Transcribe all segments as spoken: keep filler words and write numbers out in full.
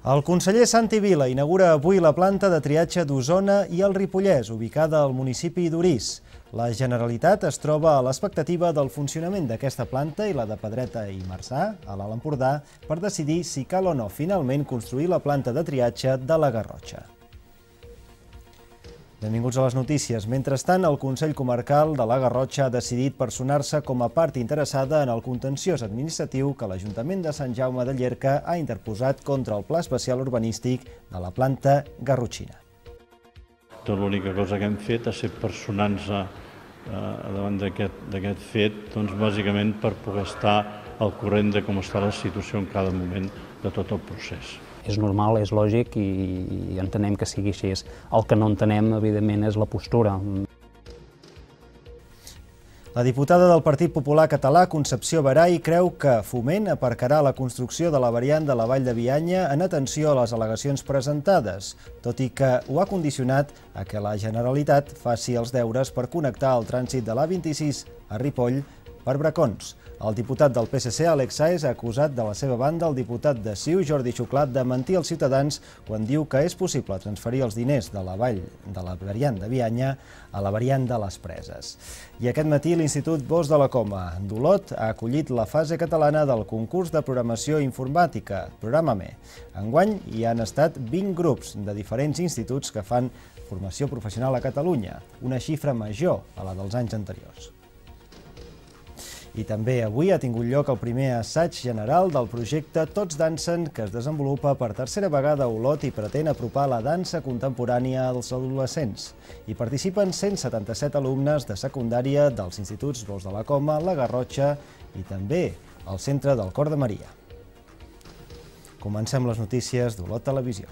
El conseller Santi Vila inaugura avui la planta de triatge d'Osona i el Ripollès, ubicada al municipi d'Orís. La Generalitat es troba a l'expectativa del funcionament d'aquesta planta i la de Pedreta i Marçà, a l'Alt Empordà, per decidir si cal o no finalment construir la planta de triatge de la Garrotxa. Benvinguts a les notícies. Mentrestant, el Consell Comarcal de la Garrotxa ha decidit personar-se com a part interessada en el contenciós administratiu que l'Ajuntament de Sant Jaume de Llierca ha interposat contra el Pla Especial Urbanístic de la planta garrotxina. Tot l'única cosa que hem fet ha estat personar-nos davant d'aquest fet, doncs bàsicament per poder estar al corrent de com està la situació en cada moment de tot el procés. És normal, és lògic i entenem que sigui així. El que no entenem, evidentment, és la postura. La diputada del Partit Popular Català, Concepció Baray, creu que Foment aparcarà la construcció de la variant de la Vall de Bianya en atenció a les al·legacions presentades, tot i que ho ha condicionat a que la Generalitat faci els deures per connectar el trànsit de l'A vint-i-sis a Ripoll per Bracons. El diputat del P S C, Àlex Sáez, ha acusat de la seva banda el diputat de C I U, Jordi Xuclat, de mentir als ciutadans quan diu que és possible transferir els diners de la vall de la variant de Bianya a la variant de les Preses. I aquest matí l'Institut Bosch de la Coma d'Olot ha acollit la fase catalana del concurs de programació informàtica, Programa-me. Enguany hi han estat vint grups de diferents instituts que fan formació professional a Catalunya, una xifra major a la dels anys anteriors. I també avui ha tingut lloc el primer assaig general del projecte Tots dansen, que es desenvolupa per tercera vegada a Olot i pretén apropar la dansa contemporània als adolescents. Hi participen cent setanta-set alumnes de secundària dels instituts Bosch de la Coma, la Garrotxa i també el Centre del Cor de Maria. Comencem les notícies d'Olot Televisió.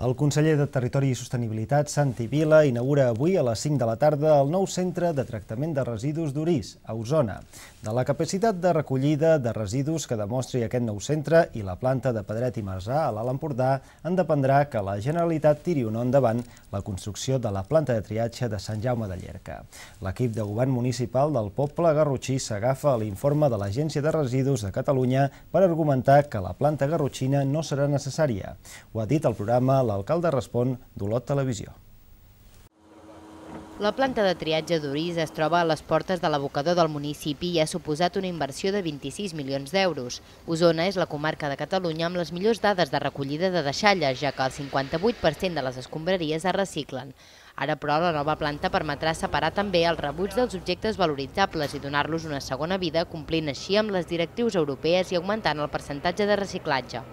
El conseller de Territori i Sostenibilitat, Santi Vila, inaugura avui a les cinc de la tarda el nou centre de tractament de residus d'Orís, a Osona. De la capacitat de recollida de residus que demostri aquest nou centre i la planta de Pedret i Marçà a l'Alt Empordà en dependrà que la Generalitat tiri o no endavant la construcció de la planta de triatge de Sant Jaume de Llierca. L'equip de govern municipal del poble garrotxí s'agafa a l'informe de l'Agència de Residus de Catalunya per argumentar que la planta garrotxina no serà necessària. Ho ha dit al programa L'Alcalde Respon d'Olot Televisió. La planta de triatge d'Orís es troba a les portes de l'abocador del municipi i ha suposat una inversió de vint-i-sis milions d'euros. Osona és la comarca de Catalunya amb les millors dades de recollida de deixalles, ja que el cinquanta-vuit per cent de les escombraries es reciclen. Ara, però, la nova planta permetrà separar també el rebuig dels objectes valoritzables i donar-los una segona vida, complint així amb les directrius europees i augmentant el percentatge de reciclatge.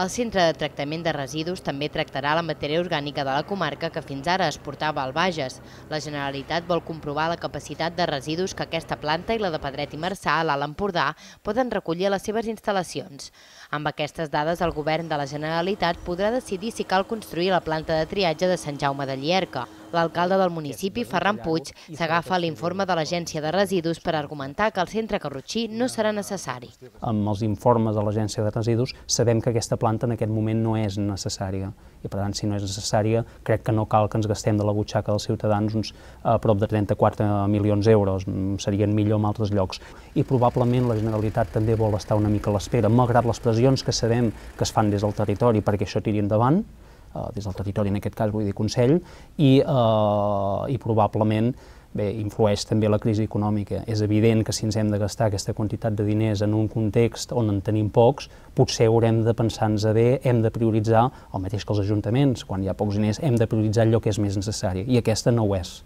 El centre de tractament de residus també tractarà la matèria orgànica de la comarca que fins ara es portava al Bages. La Generalitat vol comprovar la capacitat de residus que aquesta planta i la de Pedret i Marçà a l'Alt Empordà poden recollir a les seves instal·lacions. Amb aquestes dades, el govern de la Generalitat podrà decidir si cal construir la planta de triatge de Sant Jaume de Llierca. L'alcalde del municipi, Ferran Puig, s'agafa a l'informe de l'Agència de Residus per argumentar que el centre garrotxí no serà necessari. Amb els informes de l'Agència de Residus sabem que aquesta planta en aquest moment no és necessària i, per tant, si no és necessària, crec que no cal que ens gastem de la butxaca dels ciutadans uns a prop de trenta-quatre milions d'euros, serien millor en altres llocs. I probablement la Generalitat també vol estar una mica a l'espera, malgrat les pressions que sabem que es fan des del territori perquè això tiri endavant, des del territori en aquest cas vull dir Consell, i, eh, i probablement bé, influeix també la crisi econòmica. És evident que si ens hem de gastar aquesta quantitat de diners en un context on en tenim pocs, potser haurem de pensar-nos bé, hem de prioritzar, el mateix que els ajuntaments, quan hi ha pocs diners, hem de prioritzar allò que és més necessari, i aquesta no ho és.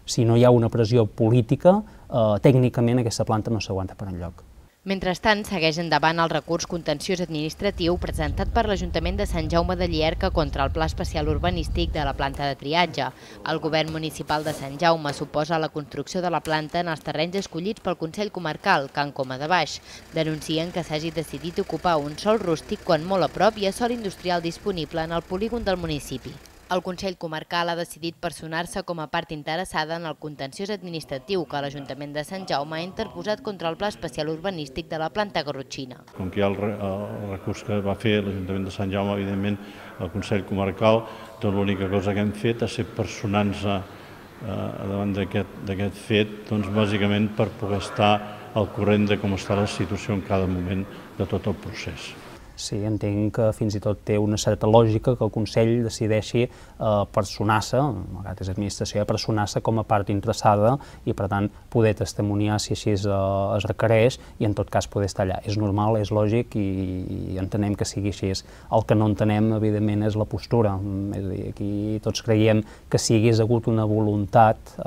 Si no hi ha una pressió política, eh, tècnicament aquesta planta no s'aguanta per enlloc. Mentrestant, segueix endavant el recurs contenciós administratiu presentat per l'Ajuntament de Sant Jaume de Llierca contra el Pla Especial Urbanístic de la planta de triatge. El govern municipal de Sant Jaume s'oposa a la construcció de la planta en els terrenys escollits pel Consell Comarcal, Can Coma de Baix. Denuncien que s'hagi decidit ocupar un sòl rústic quan molt a prop hi ha sòl industrial disponible en el polígon del municipi. El Consell Comarcal ha decidit personar-se com a part interessada en el contenciós administratiu que l'Ajuntament de Sant Jaume ha interposat contra el Pla Especial Urbanístic de la planta garrotxina. Com que hi ha el recurs que va fer l'Ajuntament de Sant Jaume, evidentment, el Consell Comarcal, tot l'única cosa que hem fet ha ser personar-se davant d'aquest fet, doncs bàsicament per poder estar al corrent de com està la situació en cada moment de tot el procés. Sí, entenc que fins i tot té una certa lògica que el Consell decideixi personar-se, malgrat és administració, personar-se com a part interessada i, per tant, poder testimoniar si així es requereix i, en tot cas, poder estar allà. És normal, és lògic i entenem que sigui així. El que no entenem, evidentment, és la postura. És a dir, aquí tots creiem que si hi hagués hagut una voluntat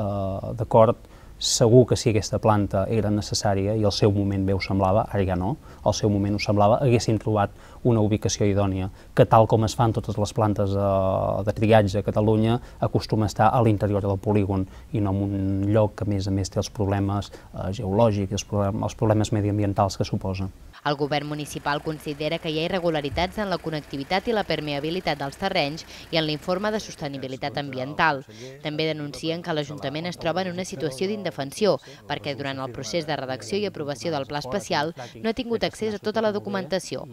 d'acord, segur que si aquesta planta era necessària i al seu moment bé ho semblava, ara ja no, al seu moment ho semblava, haguessin trobat una ubicació idònia, que tal com es fan totes les plantes de triatge a Catalunya, acostuma a estar a l'interior del polígon i no en un lloc que a més a més té els problemes geològics, els problemes mediambientals que suposa. El govern municipal considera que hi ha irregularitats en la connectivitat i la permeabilitat dels terrenys i en l'informe de sostenibilitat ambiental. També denuncien que l'Ajuntament es troba en una situació d'indefensió perquè durant el procés de redacció i aprovació del pla especial no ha tingut accés a tota la documentació.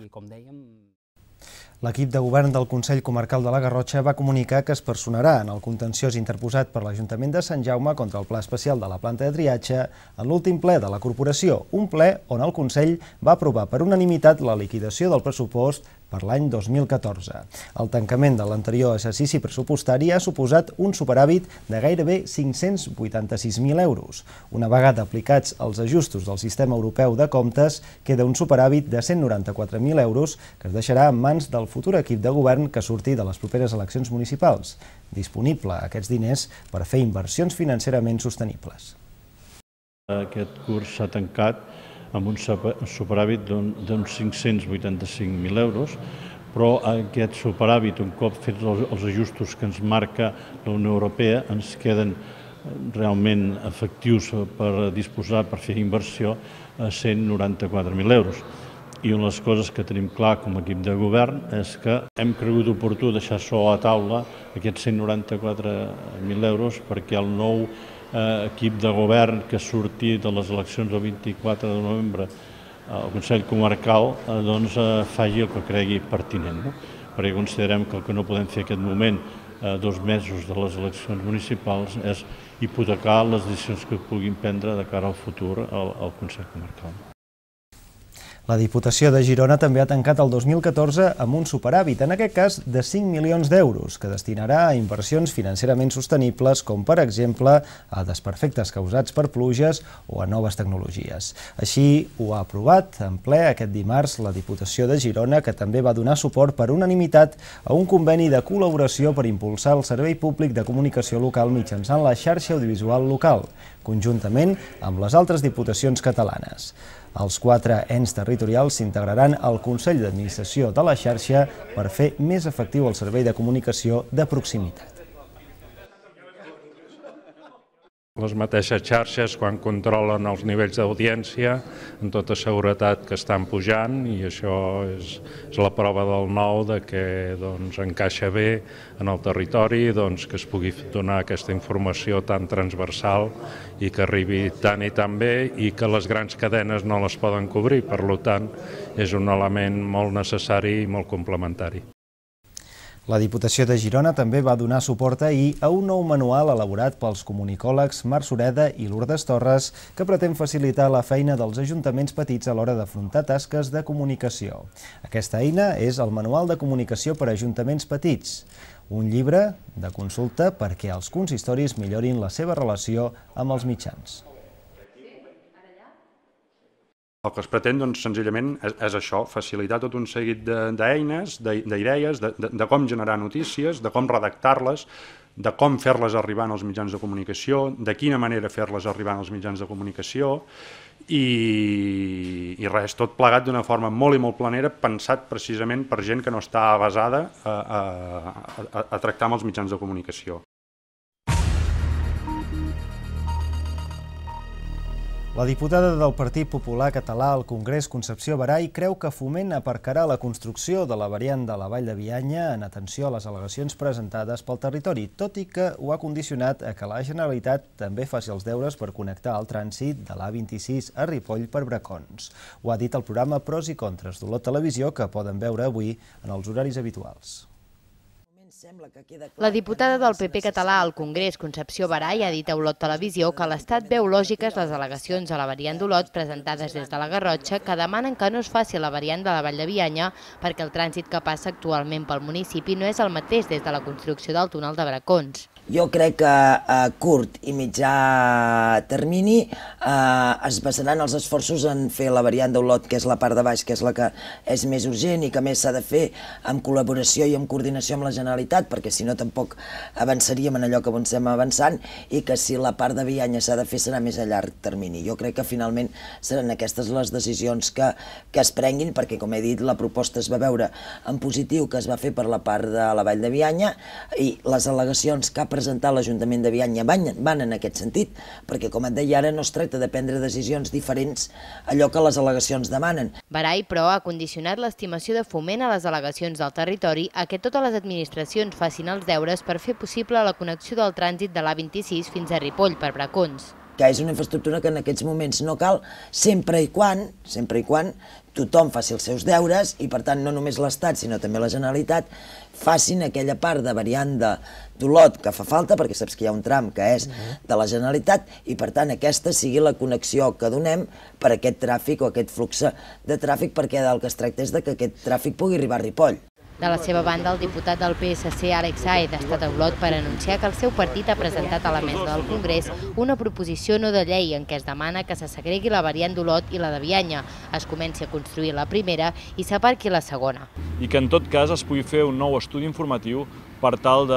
L'equip de govern del Consell Comarcal de la Garrotxa va comunicar que es personarà en el contenciós interposat per l'Ajuntament de Sant Jaume contra el Pla Especial de la planta de triatge en l'últim ple de la corporació, un ple on el Consell va aprovar per unanimitat la liquidació del pressupost per l'any dos mil catorze. El tancament de l'anterior exercici pressupostari ha suposat un superàvit de gairebé cinc-cents vuitanta-sis mil euros. Una vegada aplicats els ajustos del sistema europeu de comptes, queda un superàvit de cent noranta-quatre mil euros que es deixarà en mans del futur equip de govern que surti de les properes eleccions municipals. Disponible aquests diners per fer inversions financerament sostenibles. Aquest curs s'ha tancat amb un superàvit d'uns cinc-cents vuitanta-cinc mil euros, però aquest superàvit, un cop fets els ajustos que ens marca la Unió Europea, ens queden realment efectius per disposar, per fer inversió, a cent noranta-quatre mil euros. I una de les coses que tenim clar com a equip de govern és que hem cregut oportú deixar sobre la taula aquests cent noranta-quatre mil euros perquè el nou equip de govern que surti de les eleccions del vint-i-quatre de novembre al Consell Comarcal faci el que cregui pertinent, perquè considerem que el que no podem fer en aquest moment, dos mesos de les eleccions municipals, és hipotecar les decisions que puguin prendre de cara al futur al Consell Comarcal. La Diputació de Girona també ha tancat el dos mil catorze amb un superàvit, en aquest cas de cinc milions d'euros, que destinarà a inversions financerament sostenibles, com per exemple a desperfectes causats per pluges o a noves tecnologies. Així ho ha aprovat en ple aquest dimarts la Diputació de Girona, que també va donar suport per unanimitat a un conveni de col·laboració per impulsar el servei públic de comunicació local mitjançant la xarxa audiovisual local, conjuntament amb les altres diputacions catalanes. Els quatre ens territorials s'integraran al Consell d'Administració de la xarxa per fer més efectiu el servei de comunicació de proximitat. Les mateixes xarxes, quan controlen els nivells d'audiència, amb tota seguretat que estan pujant, i això és la prova del nou de que encaixa bé en el territori, que es pugui donar aquesta informació tan transversal i que arribi tant i tan bé i que les grans cadenes no les poden cobrir. Per tant, és un element molt necessari i molt complementari. La Diputació de Girona també va donar suport ahir a un nou manual elaborat pels comunicòlegs Marc Sureda i Lourdes Torres que pretén facilitar la feina dels ajuntaments petits a l'hora d'afrontar tasques de comunicació. Aquesta eina és el Manual de Comunicació per a Ajuntaments Petits, un llibre de consulta perquè els consistoris millorin la seva relació amb els mitjans. El que es pretén, doncs, senzillament, és això, facilitar tot un seguit d'eines, d'idees, de com generar notícies, de com redactar-les, de com fer-les arribar als mitjans de comunicació, de quina manera fer-les arribar als mitjans de comunicació, i res, tot plegat d'una forma molt i molt planera, pensat precisament per gent que no està avesada a tractar amb els mitjans de comunicació. La diputada del Partit Popular Català al Congrés, Concepció Baray, creu que Foment aparcarà la construcció de la variant de la Vall de Bianya en atenció a les al·legacions presentades pel territori, tot i que ho ha condicionat a que la Generalitat també faci els deures per connectar el trànsit de l'A vint-i-sis a Ripoll per Bracons. Ho ha dit el programa Pros i Contres d'Olot Televisió, que poden veure avui en els horaris habituals. La diputada del P P català al Congrés, Concepció Baray, ha dit a Olot Televisió que l'Estat veu lògiques les al·legacions a la variant d'Olot presentades des de la Garrotxa, que demanen que no es faci la variant de la Vall de Bianya perquè el trànsit que passa actualment pel municipi no és el mateix des de la construcció del túnel de Bracons. Jo crec que a curt i mitjà termini es basaran els esforços en fer la variant d'Olot, que és la part de baix, que és la que és més urgent i que més s'ha de fer amb col·laboració i amb coordinació amb la Generalitat, perquè si no tampoc avançaríem en allò que estem avançant, i que si la part de Bianya s'ha de fer serà més a llarg termini. Jo crec que finalment seran aquestes les decisions que, que es prenguin, perquè com he dit la proposta es va veure en positiu que es va fer per la part de la Vall de Bianya i les al·legacions que ha presentat l'Ajuntament de Bianya van, van en aquest sentit, perquè com et deia ara no es tracta de prendre decisions diferents a allò que les al·legacions demanen. Baray, però, ha condicionat l'estimació de Foment a les al·legacions del territori a que totes les administracions facin els deures per fer possible la connexió del trànsit de l'A vint-i-sis fins a Ripoll per Bracons. Que és una infraestructura que en aquests moments no cal, sempre i quan, sempre i quan tothom faci els seus deures i per tant no només l'Estat sinó també la Generalitat facin aquella part de variant d'Olot que fa falta, perquè saps que hi ha un tram que és de la Generalitat i per tant aquesta sigui la connexió que donem per a aquest tràfic o aquest flux de tràfic, perquè del que es tracta és que aquest tràfic pugui arribar a Ripoll. De la seva banda, el diputat del P S C, Àlex Sáez, ha estat a Olot per anunciar que el seu partit ha presentat a la mesa del Congrés una proposició no de llei en què es demana que se segregui la variant d'Olot i la de Bianya, es comenci a construir la primera i s'aparqui la segona. I que en tot cas es pugui fer un nou estudi informatiu per tal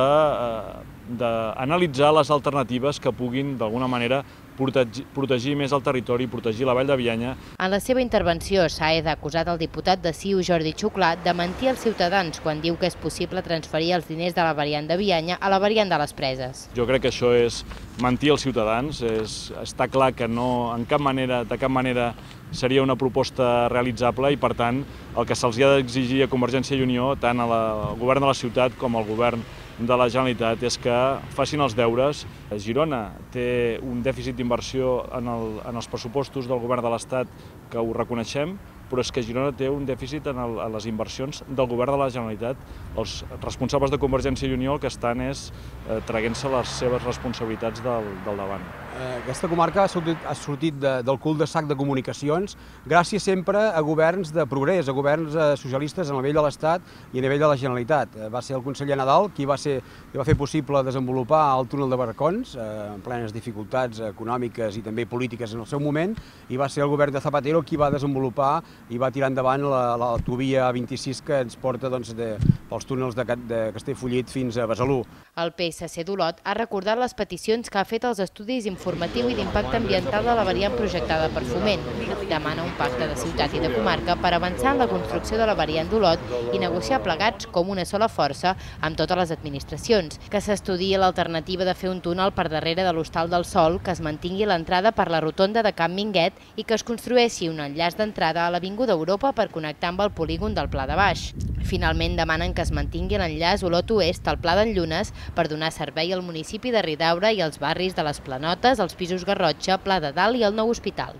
d'analitzar les alternatives que puguin d'alguna manera Protegir, protegir més el territori, protegir la Vall de Bianya. En la seva intervenció, Sáez ha acusat el diputat de C I U, Jordi Xuclà, de mentir als ciutadans quan diu que és possible transferir els diners de la variant de Bianya a la variant de les Preses. Jo crec que això és mentir als ciutadans. És, està clar que no, en cap manera, de cap manera seria una proposta realitzable i, per tant, el que se'ls ha d'exigir a Convergència i Unió, tant al govern de la ciutat com al govern de la Generalitat, és que facin els deures. Girona té un dèficit d'inversió en, el, en els pressupostos del govern de l'Estat que ho reconeixem, però és que Girona té un dèficit en, el, en les inversions del govern de la Generalitat. Els responsables de Convergència i Unió el que estan és eh, traient-se les seves responsabilitats del, del davant. Aquesta comarca ha sortit, ha sortit de, del cul de sac de comunicacions gràcies sempre a governs de progrés, a governs eh, socialistes a nivell de l'Estat i a nivell de la Generalitat. Eh, va ser el conseller Nadal qui va, ser, qui va fer possible desenvolupar el túnel de Bracons eh, en plenes dificultats econòmiques i també polítiques en el seu moment, i va ser el govern de Zapatero qui va desenvolupar i va tirar endavant la, la autovia A vint-i-sis que ens porta doncs, de, pels túnels de, de Castellfollit fins a Besalú. El P S C d'Olot ha recordat les peticions que ha fet als estudis informatiu i d'impacte ambiental de la variant projectada per Foment. Demana un pacte de ciutat i de comarca per avançar en la construcció de la variant d'Olot i negociar plegats com una sola força amb totes les administracions, que s'estudiï l'alternativa de fer un túnel per darrere de l'Hostal del Sol, que es mantingui l'entrada per la rotonda de Can Minguet i que es construeixi un enllaç d'entrada a l'Avinguda d'Europa per connectar amb el polígon del Pla de Baix. Finalment demanen que es mantingui l'enllaç Olot Oest al Pla d'en Llunes per donar servei al municipi de Ridaura i als barris de les Planotes, els pisos Garrotxa, Pla de Dalt i el nou hospital.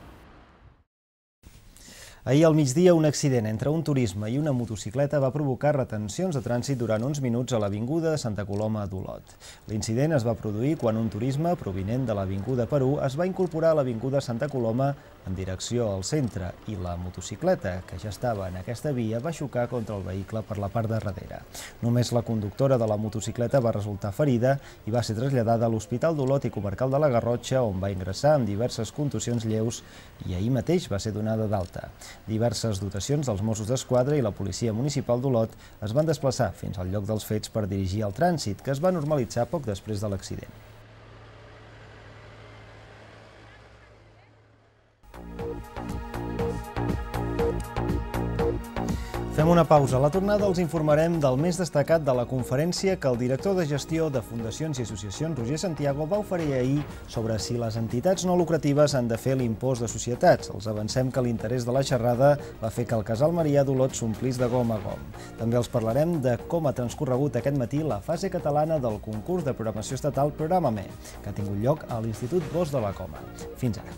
Ahir al migdia, un accident entre un turisme i una motocicleta va provocar retencions de trànsit durant uns minuts a l'avinguda de Santa Coloma d'Olot. L'incident es va produir quan un turisme provinent de l'avinguda Perú es va incorporar a l'avinguda Santa Coloma en direcció al centre i la motocicleta, que ja estava en aquesta via, va xocar contra el vehicle per la part de darrere. Només la conductora de la motocicleta va resultar ferida i va ser traslladada a l'Hospital d'Olot i Comarcal de la Garrotxa, on va ingressar amb diverses contusions lleus i ahir mateix va ser donada d'alta. Diverses dotacions dels Mossos d'Esquadra i la Policia Municipal d'Olot es van desplaçar fins al lloc dels fets per dirigir el trànsit, que es va normalitzar poc després de l'accident. Fem Fem una pausa. A la tornada els informarem del més destacat de la conferència que el director de gestió de Fundacions i Associacions, Roger Santiago, va oferir ahir sobre si les entitats no lucratives han de fer l'impost de societats. Els avancem que l'interès de la xerrada va fer que el casal Marià d'Olot s'omplís de gom a gom. També els parlarem de com ha transcorregut aquest matí la fase catalana del concurs de programació estatal Programa-me, que ha tingut lloc a l'Institut Bosch de la Coma. Fins ara.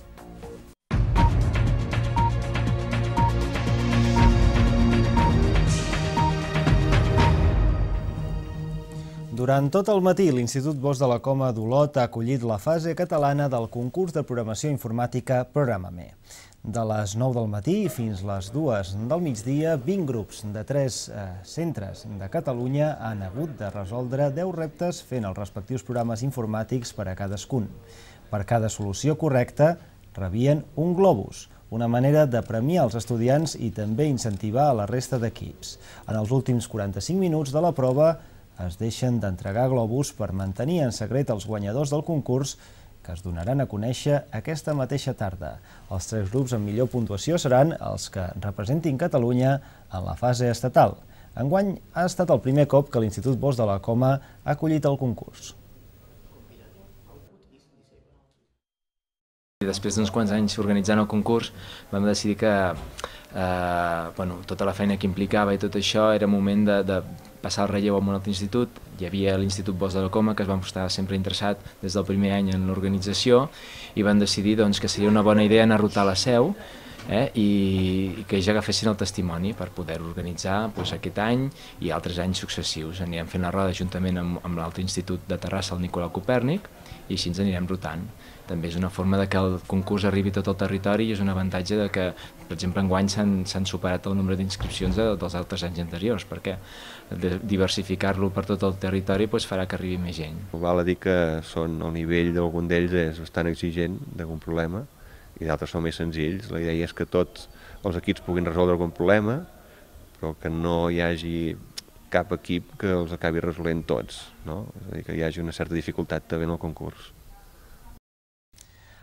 Durant tot el matí, l'Institut Bosch de la Coma d'Olot ha acollit la fase catalana del concurs de programació informàtica Programa-me. De les nou del matí fins les dues del migdia, vint grups de tres eh, centres de Catalunya han hagut de resoldre deu reptes fent els respectius programes informàtics per a cadascun. Per cada solució correcta, rebien un globus, una manera de premiar els estudiants i també incentivar a la resta d'equips. En els últims quaranta-cinc minuts de la prova, es deixen d'entregar globus per mantenir en secret els guanyadors del concurs que es donaran a conèixer aquesta mateixa tarda. Els tres grups amb millor puntuació seran els que representin Catalunya en la fase estatal. Enguany ha estat el primer cop que l'Institut Bosch de la Coma ha acollit el concurs. Després d'uns quants anys organitzant el concurs vam decidir que eh, bueno, tota la feina que implicava i tot això era moment de, de passar el relleu a un altre institut. Hi havia l'Institut Bosch de la Coma, que es vam estar sempre interessat des del primer any en l'organització, i van decidir doncs, que seria una bona idea anar a rotar la seu eh, i, i que ja agafessin el testimoni per poder organitzar doncs, aquest any i altres anys successius. Anirem fent la roda juntament amb, amb l'altre institut de Terrassa, el Nicolau Copèrnic, i així ens anirem rotant. També és una forma de que el concurs arribi a tot el territori i és un avantatge de que, per exemple, enguany s'han superat el nombre d'inscripcions de, dels altres anys anteriors, perquè diversificar-lo per tot el territori doncs, farà que arribi més gent. Val a dir que són, el nivell d'algun d'ells és bastant exigent d'algun problema i d'altres són més senzills. La idea és que tots els equips puguin resoldre algun problema, però que no hi hagi cap equip que els acabi resolent tots, no? És a dir, que hi hagi una certa dificultat també en el concurs.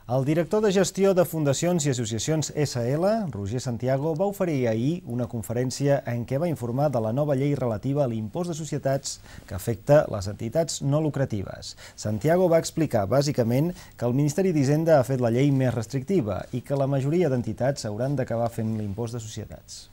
El director de gestió de Fundacions i Associacions essa ele, Roger Santiago, va oferir ahir una conferència en què va informar de la nova llei relativa a l'impost de societats que afecta les entitats no lucratives. Santiago va explicar, bàsicament, que el Ministeri d'Hisenda ha fet la llei més restrictiva i que la majoria d'entitats hauran d'acabar fent l'impost de societats.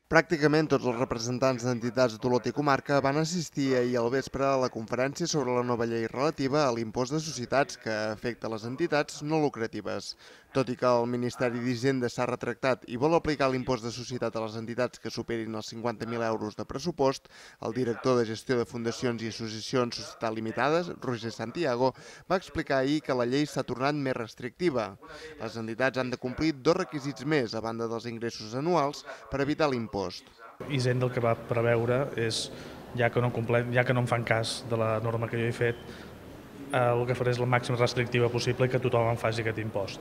Pràcticament tots els representants d'entitats d'Olot i comarca van assistir ahir al vespre a la conferència sobre la nova llei relativa a l'impost de societats que afecta les entitats no lucratives. Tot i que el Ministeri d'Hisenda s'ha retractat i vol aplicar l'impost de societat a les entitats que superin els cinquanta mil euros de pressupost, el director de gestió de Fundacions i Associacions Societat Limitades, Roger Santiago, va explicar ahir que la llei s'ha tornat més restrictiva. Les entitats han de complir dos requisits més, a banda dels ingressos anuals, per evitar l'impost. Hisenda el que va preveure és, ja que no, complem, ja que no em fan cas de la norma que jo he fet, el que faré és la màxima restrictiva possible i que tothom en faci aquest impost.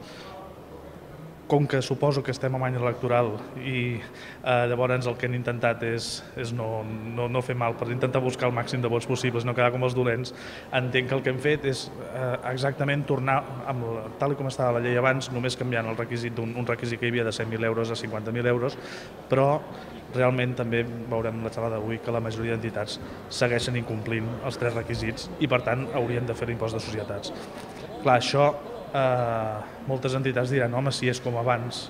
Com que suposo que estem en any electoral i eh, llavors el que han intentat és, és no, no, no fer mal per intentar buscar el màxim de vots possibles, no quedar com els dolents, entenc que el que hem fet és eh, exactament tornar, amb la, tal com estava la llei abans, només canviant el requisit d'un un requisit que hi havia de cent mil euros a cinquanta mil euros, però realment també veurem la xerrada d'avui que la majoria d'entitats segueixen incomplint els tres requisits i per tant haurien de fer l'impost de societats. Clar, això eh, moltes entitats diran, home, si és com abans,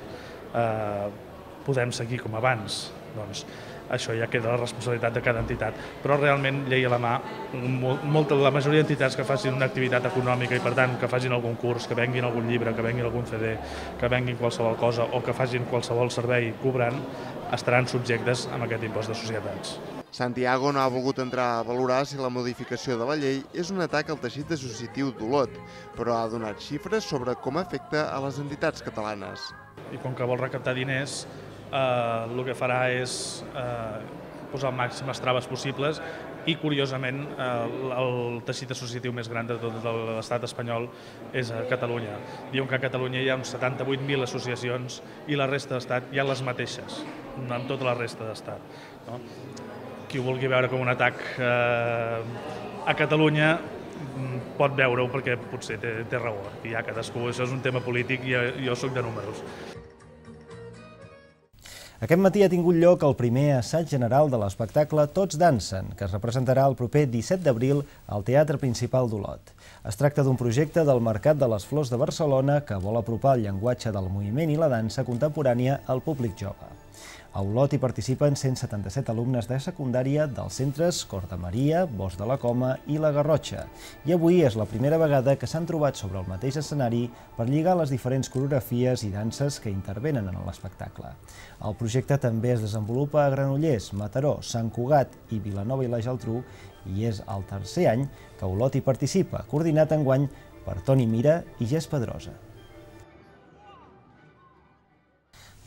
eh, podem seguir com abans. Doncs això ja queda la responsabilitat de cada entitat. Però realment, llei a la mà, molta, la majoria d'entitats que facin una activitat econòmica i per tant que facin algun curs, que venguin algun llibre, que venguin algun ce de, que venguin qualsevol cosa o que facin qualsevol servei cobrant, estaran subjectes a aquest impost de societats. Santiago no ha volgut entrar a valorar si la modificació de la llei és un atac al teixit associatiu d'Olot, però ha donat xifres sobre com afecta a les entitats catalanes. I com que vol recaptar diners, eh, el que farà és eh, posar el màximes traves possibles i, curiosament, eh, el teixit associatiu més gran de tot l'estat espanyol és a Catalunya. Diuen que a Catalunya hi ha uns setanta-vuit mil associacions i la resta d'estat hi ha les mateixes, amb tota la resta d'estat. No? Qui ho vulgui veure com un atac eh, a Catalunya pot veure-ho perquè potser té, té raó. I ja cadascú, això és un tema polític i jo, jo soc de números. Aquest matí ha tingut lloc el primer assaig general de l'espectacle Tots dansen, que es representarà el proper disset d'abril al Teatre Principal d'Olot. Es tracta d'un projecte del Mercat de les Flors de Barcelona que vol apropar el llenguatge del moviment i la dansa contemporània al públic jove. A Olot hi participen cent setanta-set alumnes de secundària dels centres Cor de Maria, Bosc de la Coma i la Garrotxa. I avui és la primera vegada que s'han trobat sobre el mateix escenari per lligar les diferents coreografies i danses que intervenen en l'espectacle. El projecte també es desenvolupa a Granollers, Mataró, Sant Cugat i Vilanova i la Geltrú i és el tercer any que Olot hi participa, coordinat enguany per Toni Mira i Gés Pedrosa.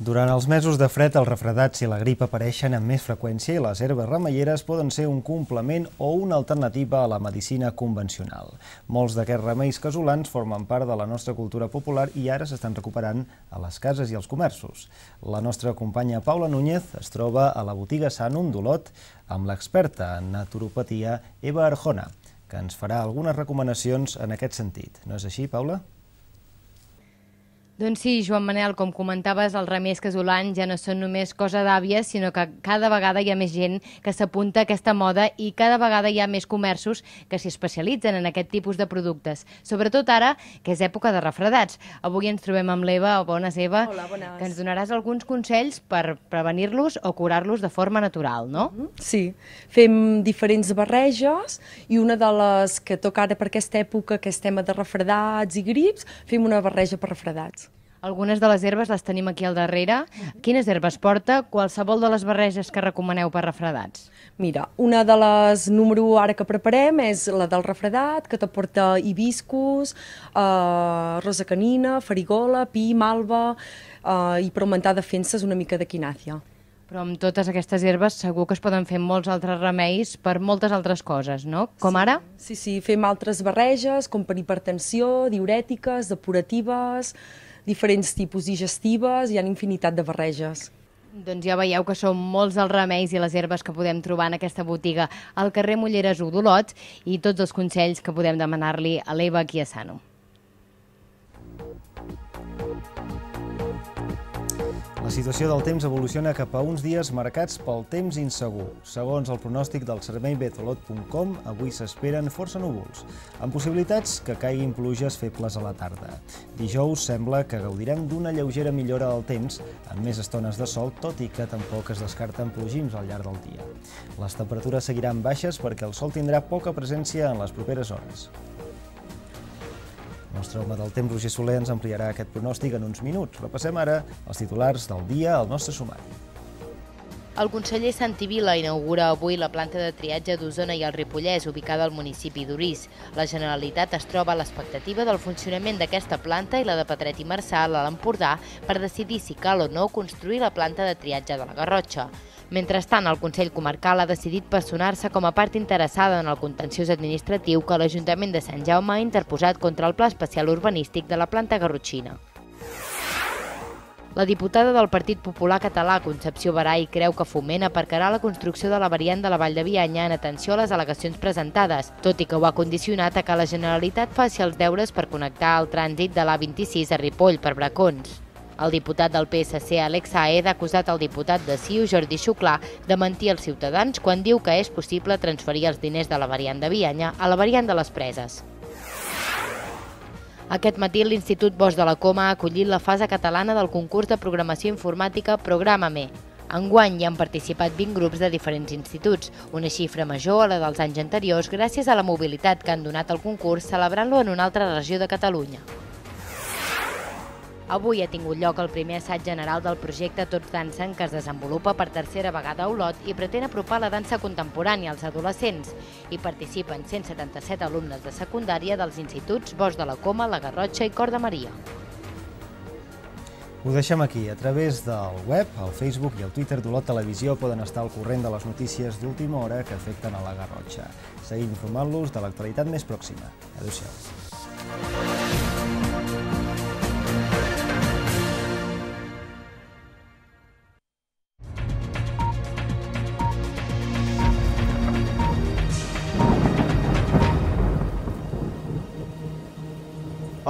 Durant els mesos de fred, els refredats i la grip apareixen amb més freqüència i les herbes remeieres poden ser un complement o una alternativa a la medicina convencional. Molts d'aquests remeis casolans formen part de la nostra cultura popular i ara s'estan recuperant a les cases i als comerços. La nostra companya Paula Núñez es troba a la botiga Sanum d'Olot amb l'experta en naturopatia Eva Arjona, que ens farà algunes recomanacions en aquest sentit. No és així, Paula? Doncs sí, Joan Manel, com comentaves, els remeis casolans ja no són només cosa d'àvies, sinó que cada vegada hi ha més gent que s'apunta a aquesta moda i cada vegada hi ha més comerços que s'hi especialitzen en aquest tipus de productes. Sobretot ara, que és època de refredats. Avui ens trobem amb l'Eva. Bones, Eva. Hola, bones. Que ens donaràs alguns consells per prevenir-los o curar-los de forma natural, no? Sí, fem diferents barreges i una de les que toca ara per aquesta època, que és tema de refredats i grips, fem una barreja per refredats. Algunes de les herbes les tenim aquí al darrere. Quines herbes porta qualsevol de les barreges que recomaneu per refredats? Mira, una de les número u ara que preparem és la del refredat, que t'aporta hibiscus, eh, rosa canina, farigola, pi, malva eh, i per augmentar defenses una mica d'equinàcia. Però amb totes aquestes herbes segur que es poden fer molts altres remeis per moltes altres coses, no? Com sí, ara? Sí, sí, fem altres barreges, com per hipertensió, diurètiques, depuratives, diferents tipus digestives, hi ha infinitat de barreges. Doncs ja veieu que són molts els remeis i les herbes que podem trobar en aquesta botiga al carrer Molleres u d'Olot i tots els consells que podem demanar-li a l'Eva aquí a Sanum. La situació del temps evoluciona cap a uns dies marcats pel temps insegur. Segons el pronòstic del servei betolot punt com, avui s'esperen força núvols, amb possibilitats que caiguin pluges febles a la tarda. Dijous sembla que gaudirem d'una lleugera millora del temps, amb més estones de sol, tot i que tampoc es descarten plogims al llarg del dia. Les temperatures seguiran baixes perquè el sol tindrà poca presència en les properes hores. El nostre home del temps, Roger Soler, ens ampliarà aquest pronòstic en uns minuts. Repassem ara els titulars del dia al nostre sumari. El conseller Santi Vila inaugura avui la planta de triatge d'Osona i el Ripollès, ubicada al municipi d'Orís. La Generalitat es troba a l'expectativa del funcionament d'aquesta planta i la de Petret i Marçal a l'Empordà per decidir si cal o no construir la planta de triatge de la Garrotxa. Mentrestant, el Consell Comarcal ha decidit personar-se com a part interessada en el contenciós administratiu que l'Ajuntament de Sant Jaume ha interposat contra el Pla Especial Urbanístic de la planta garrotxina. La diputada del Partit Popular Català, Concepció Barai, creu que Foment aparcarà la construcció de la variant de la Vall de Bianya en atenció a les al·legacions presentades, tot i que ho ha condicionat a que la Generalitat faci els deures per connectar el trànsit de l'A vint-i-sis a Ripoll per Bracons. El diputat del P S C, Alex Saez, ha acusat el diputat de C I U, Jordi Xuclà, de mentir als ciutadans quan diu que és possible transferir els diners de la variant de Bianya a la variant de les Preses. Aquest matí l'Institut Bosc de la Coma ha acollit la fase catalana del concurs de programació informàtica Programa-me. Enguany hi han participat vint grups de diferents instituts, una xifra major a la dels anys anteriors gràcies a la mobilitat que han donat al concurs celebrant-lo en una altra regió de Catalunya. Avui ha tingut lloc el primer assaig general del projecte Tots dansen, que es desenvolupa per tercera vegada a Olot i pretén apropar la dansa contemporània als adolescents. Hi participen cent setanta-set alumnes de secundària dels instituts Bosc de la Coma, la Garrotxa i Cor de Maria. Ho deixem aquí. A través del web, el Facebook i el Twitter d'Olot Televisió poden estar al corrent de les notícies d'última hora que afecten a la Garrotxa. Seguim informant-los de l'actualitat més pròxima. Adéu-siau.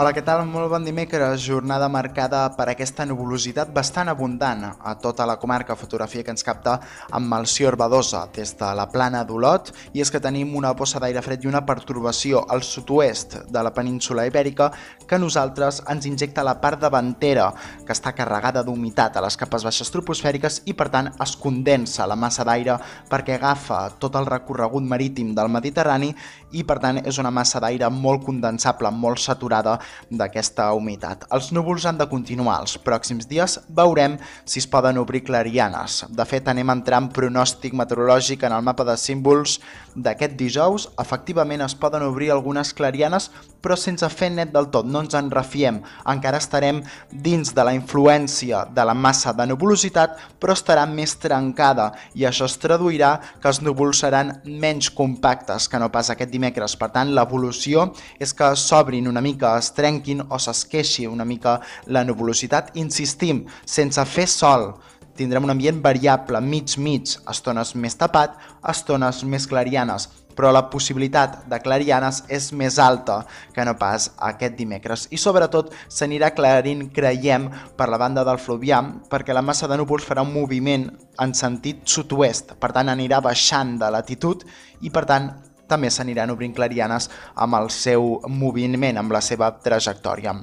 Hola, què tal? Molt bon dimecres. Jornada marcada per aquesta nuvolositat bastant abundant a tota la comarca. Fotografia que ens capta amb Melcior Badosa des de la plana d'Olot. I és que tenim una bossa d'aire fred i una pertorbació al sud-oest de la península Ibèrica que a nosaltres ens injecta la part davantera, que està carregada d'humitat a les capes baixes troposfèriques i per tant es condensa la massa d'aire perquè agafa tot el recorregut marítim del Mediterrani i per tant és una massa d'aire molt condensable, molt saturada d'aquesta humitat. Els núvols han de continuar els pròxims dies, veurem si es poden obrir clarianes. De fet, anem a entrar en pronòstic meteorològic en el mapa de símbols d'aquest dijous. Efectivament es poden obrir algunes clarianes, però sense fer net del tot, no ens en refiem. Encara estarem dins de la influència de la massa de nuvolositat, però estarà més trencada i això es traduirà que els núvols seran menys compactes que no pas aquest dimecres. Per tant, l'evolució és que s'obrin una mica, es trenquin o s'esqueixi una mica la nuvolositat. Insistim, sense fer sol, tindrem un ambient variable, mig-mig, estones més tapat, estones més clarianes, però la possibilitat de clarianes és més alta que no pas aquest dimecres. I sobretot s'anirà aclarint, creiem, per la banda del Fluvià, perquè la massa de núvols farà un moviment en sentit sud-oest, per tant anirà baixant de latitud i per tant també s'aniran obrint clarianes amb el seu moviment, amb la seva trajectòria.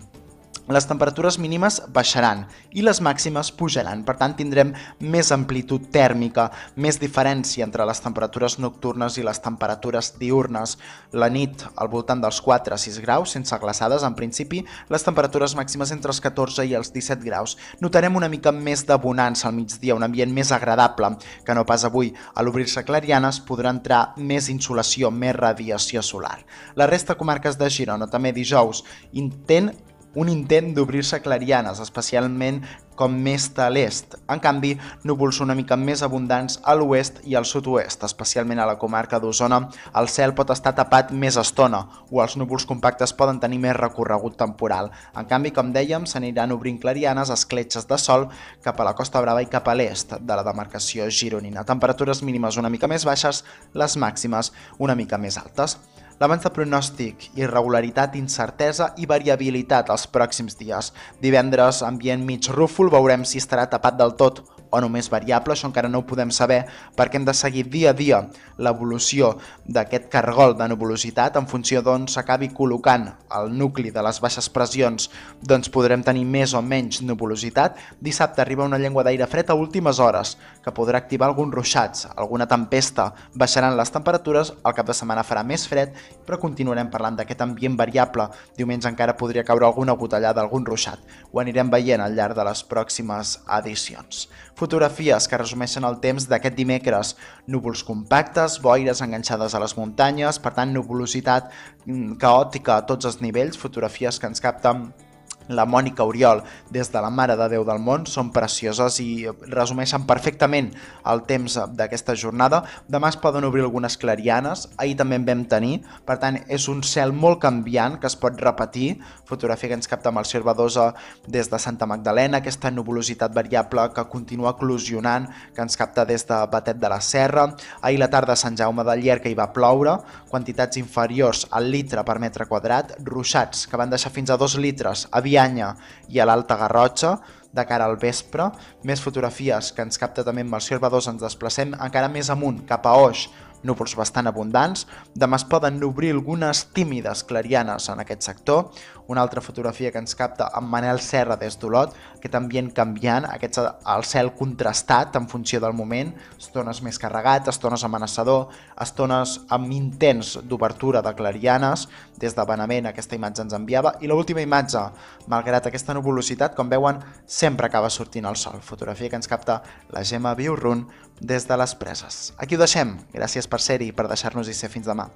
Les temperatures mínimes baixaran i les màximes pujaran, per tant tindrem més amplitud tèrmica, més diferència entre les temperatures nocturnes i les temperatures diurnes. La nit al voltant dels quatre a sis graus, sense glaçades en principi, les temperatures màximes entre els catorze i els disset graus. Notarem una mica més de bonança al migdia, un ambient més agradable que no pas avui. A l'obrir-se clarianes podrà entrar més insolació, més radiació solar. La resta de comarques de Girona també dijous intent un intent d'obrir-se clarianes, especialment com més a l'est. En canvi, núvols una mica més abundants a l'oest i al sud-oest, especialment a la comarca d'Osona. El cel pot estar tapat més estona o els núvols compactes poden tenir més recorregut temporal. En canvi, com dèiem, s'aniran obrint clarianes, escletxes de sol cap a la Costa Brava i cap a l'est de la demarcació gironina. Temperatures mínimes una mica més baixes, les màximes una mica més altes. L'abans de pronòstic, irregularitat, incertesa i variabilitat els pròxims dies. Divendres, ambient mig rúfol, veurem si estarà tapat del tot o només variable, això encara no ho podem saber perquè hem de seguir dia a dia l'evolució d'aquest cargol de nuvolositat. En funció d'on s'acabi col·locant el nucli de les baixes pressions, doncs podrem tenir més o menys nuvolositat. Dissabte arriba una llengua d'aire fred a últimes hores, que podrà activar alguns ruixats, alguna tempesta, baixaran les temperatures, el cap de setmana farà més fred, però continuarem parlant d'aquest ambient variable. Diumenge encara podria caure alguna gotellada, algun ruixat. Ho anirem veient al llarg de les pròximes edicions. Fotografies que resumeixen el temps d'aquest dimecres. Núvols compactes, boires enganxades a les muntanyes, per tant nuvolositat caòtica a tots els nivells. Fotografies que ens capten la Mònica Oriol des de la Mare de Déu del Món, són precioses i resumeixen perfectament el temps d'aquesta jornada. Demà es poden obrir algunes clarianes, ahir també en vam tenir, per tant és un cel molt canviant que es pot repetir. Fotografia que ens capta Melcior Badosa des de Santa Magdalena, aquesta nuvolositat variable que continua eclosionant, que ens capta des de Batet de la Serra. Ahir la tarda a Sant Jaume de Llierca hi va ploure, quantitats inferiors al litre per metre quadrat, ruixats que van deixar fins a dos litres a Vianya i a l'Alta Garrotxa de cara al vespre. Més fotografies que ens capta també Melcior Badosa, ens desplacem encara més amunt, cap a Oix, núvols bastant abundants. Demà es poden obrir algunes tímides clarianes en aquest sector. Una altra fotografia que ens capta amb Manel Serra des d'Olot, aquest ambient canviant, aquest, el cel contrastat en funció del moment, estones més carregat, estones amenaçador, estones amb intents d'obertura de clarianes. Des de Benavent aquesta imatge ens enviava. I l'última imatge, malgrat aquesta nuvolositat, com veuen, sempre acaba sortint el sol. Fotografia que ens capta la Gemma Viurrun des de les Preses. Aquí ho deixem. Gràcies per ser-hi i per deixar-nos-hi ser fins demà.